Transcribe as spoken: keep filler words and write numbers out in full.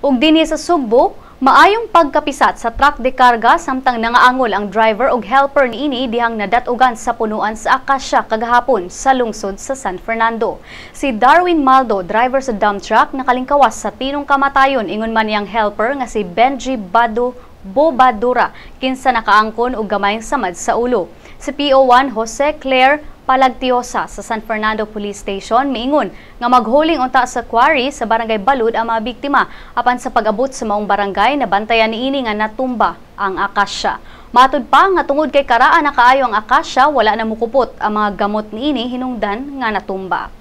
Ug dinhi sa Sugbo, maayong pagkapisat sa truck de karga samtang nangaangol ang driver ug helper niini dihang nadatugan sa punuan sa Akasya kagahapon sa lungsod sa San Fernando. Si Darwin Maldo, driver sa dump truck, nakalingkawas sa tinong kamatayon ingon man niyang helper nga si Benji Bado Bobadura kinsa nakaangkon og gamayng samad sa ulo. Si P O one Jose Claire Palagtiosa sa San Fernando Police Station miingon nga maghuling unta sa quarry sa Barangay Balud ang mga biktima, apan sa pag-abot sa maong barangay, nabantayan niini nga natumba ang akasya. Matud pa nga tungod kay karaan na kaayo ang akasya, wala na mukupot ang mga gamot niini hinungdan nga natumba.